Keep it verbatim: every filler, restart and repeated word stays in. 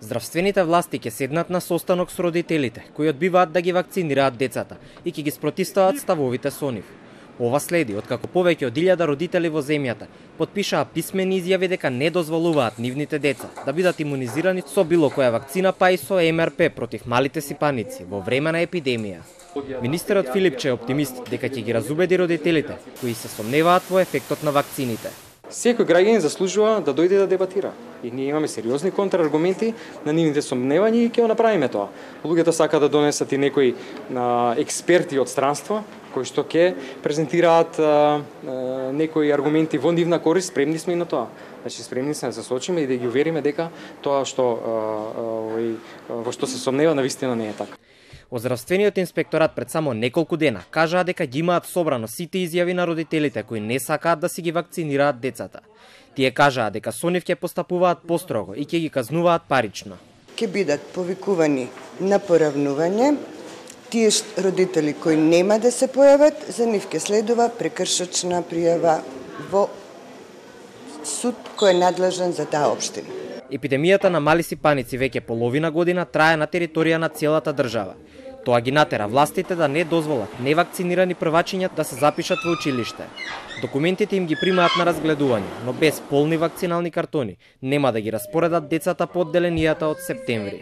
Здравствените власти ќе седнат на состанок со родителите, кои одбиваат да ги вакцинираат децата и ќе ги спротивстават ставовите со нив. Ова следи откако повеќе од илјада родители во земјата потпишаа писмени изјави дека не дозволуваат нивните деца да бидат имунизирани со било која вакцина, па и со Ем Ер Пе против малите сипаници во време на епидемија. Министерот Филипче е оптимист дека ќе ги разубеди родителите кои се сомневаат во ефектот на вакцините. Секој граѓанин заслужува да дојде да дебатира. И ние имаме сериозни контраргументи на нивните сомневања и ќе го направиме тоа. Луѓето сака да донесат и некои а, експерти од странство, кои што ќе презентираат а, а, некои аргументи во нивна корист, спремни сме и на тоа. Значи спремни сме да се сочиме и да ги увериме дека тоа што а, а, во што се сомнева навистина не е така. Од здравствениот инспекторат пред само неколку дена кажаа дека ги имаат собрано сите изјави на родителите кои не сакаат да си ги вакцинираат децата. Тие кажаа дека со нив ќе постапуваат построго и ќе ги казнуваат парично. Ќе бидат повикувани на поравнување. Тие родители кои нема да се појават, за нив ќе следува прекршочна пријава во суд кој е надлежен за таа општина. Епидемијата на мали сипаници веќе половина година трае на територија на целата држава. Тоа ги натера властите да не дозволат невакцинирани првачиња да се запишат во училиште. Документите им ги примаат на разгледување, но без полни вакцинални картони нема да ги распоредат децата по одделенијата од септември.